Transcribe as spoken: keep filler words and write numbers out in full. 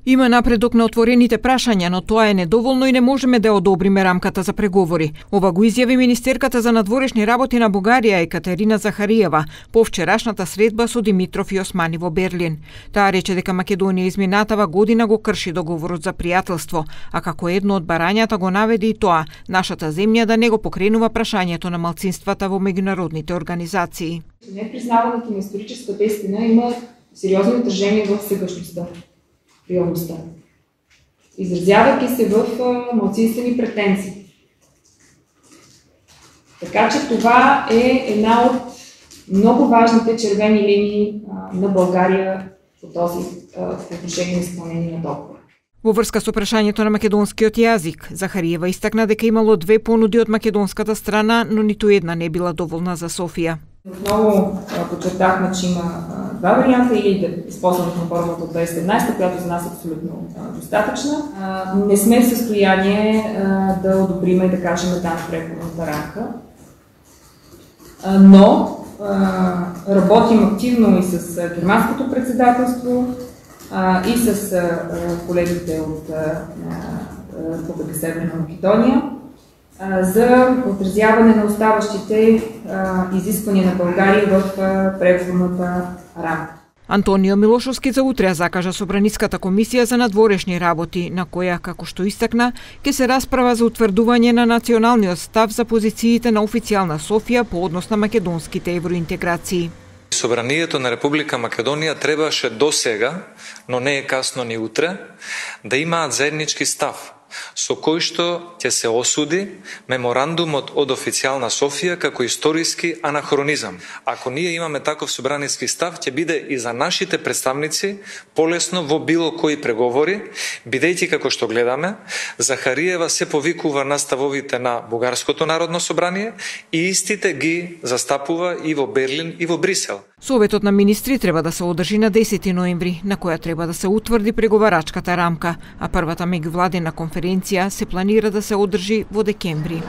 Има напредок на отворените прашања, но тоа е недоволно и не можеме да одобриме рамката за преговори. Ова го изјави министерката за надворешни работи на Бугарија Екатерина Захариева по вчерашната средба со Димитров и Османи во Берлин. Таа рече дека Македонија изминатава година го крши договорот за пријателство, а како едно од барањата го наведе и тоа нашата земја да не го покренува прашањето на малцинствата во меѓународните организации. Непризнаването на историческата истина има сериозно отражение в сегашността. Реалността, изразявайки се в малцинствени претенции. Така че това е една от много важните червени линии на България по този по отношение на изпълнение на договора. Во врска со прашањето на македонскиот јазик, Захариева истакна дека имало две понуди од македонската страна, но ниту една не била доволна за Софија. Отново подчертахме, че има два варианта, или да използваме формулата от две хиляди и седемнаесета, която за нас е абсолютно достатъчна. Не сме в състояние да одобриме, да кажем, една преговорната рамка, но работим активно и с германското председателство, и с колегите от Република Северна Македония, за отразяване на оставащите изисквания на България в преговорната рамка. Антонио Милошовски за утре закажа Собраниската комисија за надворешни работи, на која, како што истакна, ќе се расправа за утврдување на националниот став за позициите на официјална Софија по однос на македонските евроинтеграции. Собранието на Република Македонија требаше досега, но не е касно ни утре, да имаат заеднички став, со кој што ќе се осуди меморандумот од официјална Софија како историски анахронизам. Ако ние имаме таков собраниски став, ќе биде и за нашите представници полесно во било кои преговори, бидејќи како што гледаме, Захариева се повикува на ставовите на Бугарското народно собрание и истите ги застапува и во Берлин и во Брисел. Советот на министри треба да се одржи на десети ноември, на која треба да се утврди преговарачката рамка, а првата меѓувладина конференција се планира да се одржи во декември.